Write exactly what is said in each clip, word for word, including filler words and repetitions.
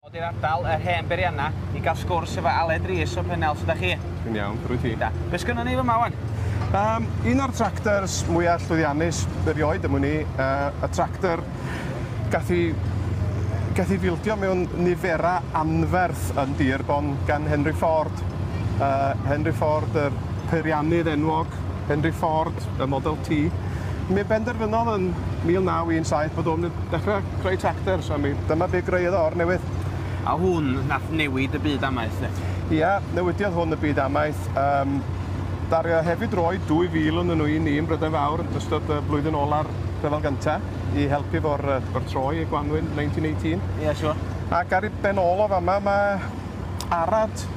Dod i'r ardal, yr hen beirianna, i gael sgwrs efo Aled Rees o Pennell. Sut ydach chi? Dwi'n iawn, rwy ti? Da. Be sgynnon ni fyma wan? Um, un o'r tractors mwyaf llwyddiannus erioed am wn i, uh, y tractor gath i, gath i fildio mewn nifera anferth yn Dearborn gan Henry Ford. Uh, Henry Ford, yr peiriannydd enwog, Henry Ford, y Model T. Mi benderfynodd yn mil naw un saith bod o'n dechrau creu tractors, a mi dyma be greuodd o o'r newydd. A hwn nath newid y byd amaeth, ne? Ia, newidiodd hwn y byd amaeth. Um, Dario hefyd roi dwy fil yn nhw i ni yn Brydain Fawr yn ystod y blwyddyn ola'r rhyfel gynta i helpu fo'r, fo'r troi y gwanwyn nineteen eighteen. Ie, yeah, siwr. Ac ar ei ben ôl o fama mae Arad,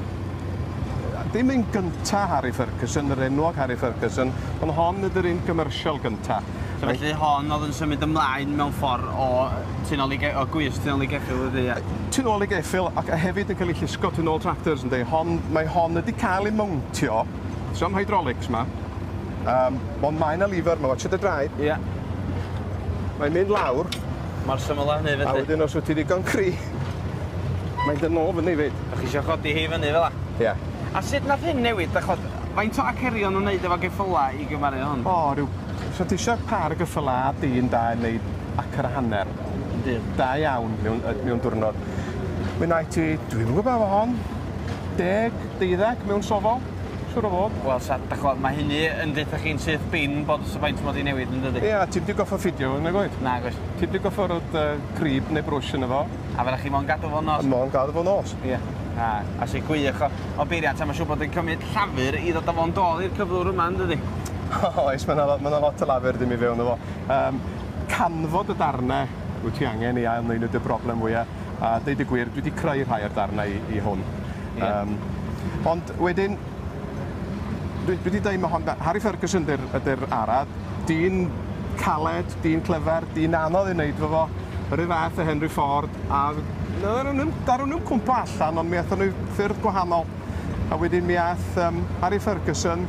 dim un gynta Harry Ferguson, yr enwog Harry Ferguson, ond hon ydy'r un commercial gynta. So felly hon oedd yn symud ymlaen mewn ffordd o tu nôl i ge-, o gwys tu nôl i geffyl ydy, ie? Tu nôl i geffyl ac hefyd yn cael ei llusgo tu nôl tractors, yndi. Hon, mae hon wedi cael ei mountio, so am hydraulics ma, um, ond mae yna lever, mae watch y draed. Ie. Mae'n mynd lawr. Mor syml â hynny felly. A wedyn os wyt ti ddigon cry, mae'n dod nôl fyny fyd. Dach chi isio chodi hi fyny fel 'a? Ie. A sut nath hyn newid, dach ch'od, faint o acerion nhw'n neud efo geffyla i gymaru hwn? O, ryw, so ti isio par o geffyla a dyn da yn neud acr a hanner. Yndi. Da iawn mewn, mewn diwrnod. Mi wnaeth ti, dwi'm yn gwybod efo hon, deg, deuddeg mewn sofol, siŵr o fod. Wel, sa, dach ch'od, mae hynny yn deutha chi'n syth bin bod y faint mod i newid yn dydi? Ie, ti'm di goffo ffidio fo, nag oed? Nag oes. Ti'm di goffo rhoi uh, crib neu brwsh yno fo. A fedra chi mo'n gadw fo'n nos? Mo'n gadw fo'n nos. Ie. A, a sy'n gwych o, o beiriant, a mae'n siŵr bod yn cymryd llafur i ddod â fo'n dôl i'r cyflwr yma, yn dydi? Oes, mae yna ma lot o lafur ddim i fewn o fo. Um, canfod y darnau wyt ti angen i ail wneud y broblem fwyaf. A deud y gwir, dwi wedi creu rhai o'r darnau i, i hwn. Yeah. Um, ond wedyn, dwi, dwi wedi dweud mae hon, Harry Ferguson ydy'r ydy'r arad, dyn caled, dyn clyfar, dyn anodd i wneud fo fo, yr un fath o Henry Ford, a daru nhw'n cwmpo allan, ond mi aethon nhw ffyrdd gwahanol. A wedyn mi aeth um, Harry Ferguson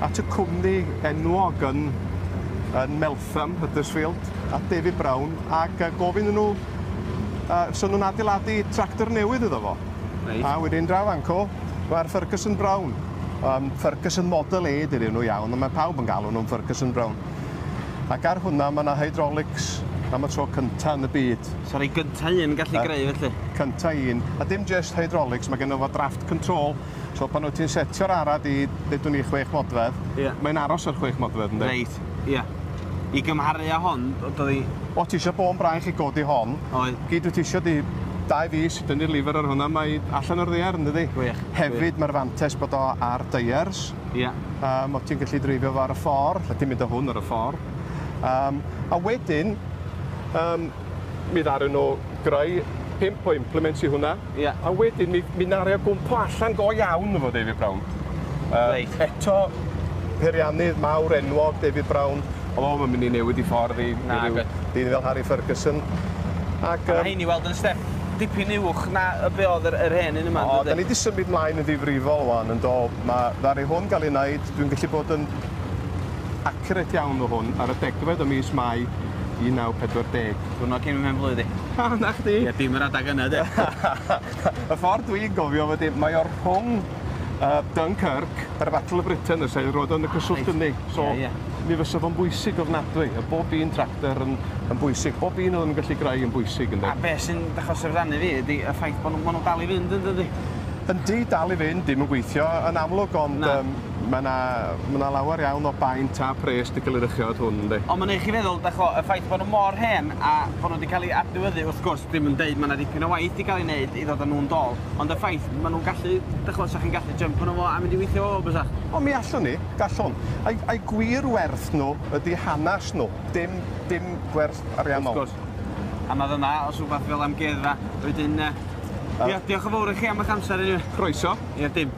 at y cwmni enwog yn, yn Meltham, Huddersfield, at David Brown, ac uh, gofyn nhw, uh, so nhw'n adeiladu tractor newydd iddo fo. Reit. A wedyn draw fanco, mae'r Ferguson Brown. Um, Ferguson Model A dydyn nhw iawn, ond mae pawb yn galw nhw'n Ferguson Brown. Ac ar hwnna mae yna hydraulics am y tro cynta yn y byd. Sori, gynta un gallu greu felly? Cynta un. A dim just hydraulics, mae genno fo draft control. So pan wyt ti'n setio'r arad i, ddeudwn ni, chwech modfedd, yeah. Mae'n aros ar chwech modfedd, yndi? Reit, ie. Yeah. I gymharu â hon, oedd hi... O, ti eisiau bôn braich i godi hon. Oedd. Gyd wyt ti eisiau di dau fis i dynnu'r lifer ar hwnna, mae allan o'r ddaear, yn dydi? Gwych. Hefyd, mae'r fantes bod o ar deiars. Ie. Yeah. Um, o ti'n gallu dreifio fo ar y ffordd, lle ti'n mynd â hwn ar y ffordd. Um, a wedyn, um, mi ddaru nhw greu pump o implements i hwnna. Yeah. A wedyn, mi, mi naru o gwmpo allan go iawn efo David Brown. Uh, Reit. Eto, peiriannydd mawr enwog David Brown, oedd o'n mynd i newid i ffordd i, Na, i ryw dyn fel Harry Ferguson. Ac, um, a rhein i weld yn step dipyn uwch na y be oedd yr, yr hen un yma. O, da ni wedi symud mlaen yn ddifrifol wan yn do. Ma, ddaru hwn gael ei wneud, dwi'n gallu bod yn accurate iawn o hwn ar y degfed o mis Mai un naw pedwar deg. Diwrnod cyn fy mhen-blwydd i. Ha, na chdi? Ie, dim yr adag yna, de. Y ffordd dwi'n gofio fod mae o'r rhwng uh, Dunkirk a'r Battle of Britain, y sail roedd yn y cyswllt yni. So, yeah, yeah. Mi fysa fo'n bwysig ofnadwy. A bob un tractor yn, yn bwysig. Bob un oedd yn gallu greu yn bwysig, ynddi. A be sy'n dechrau syfrdanu fi ydy y ffaith bod nhw, nhw dal i fynd, yn dydi? Yndi, dal i fynd, dim yn gweithio yn amlwg, ond um, mae yna ma lawer iawn o baint a pres di cael ei rychiod hwn, yndi. Ond mae'n neud chi feddwl, dach o, y ffaith bod nhw mor hen a bod nhw wedi cael ei adnewyddu, wrth gwrs, ddim yn deud mae yna dipyn o waith wedi cael ei wneud i ddod â nhw'n dôl, ond y ffaith, maen nhw'n gallu, dach o, sa chi'n gallu jump nhw fo a mynd i weithio fo, bysach? O, mi allwn ni, gallwn. A'i, ai gwir werth nhw ydy hanes nhw, dim, dim gwerth ariannol. Wrth gwrs. A mae fyma, os rhywbeth fel amgueddfa, wedyn... Ia, diolch yn fawr i chi am eich amser anyway. Croeso. Ia, dim.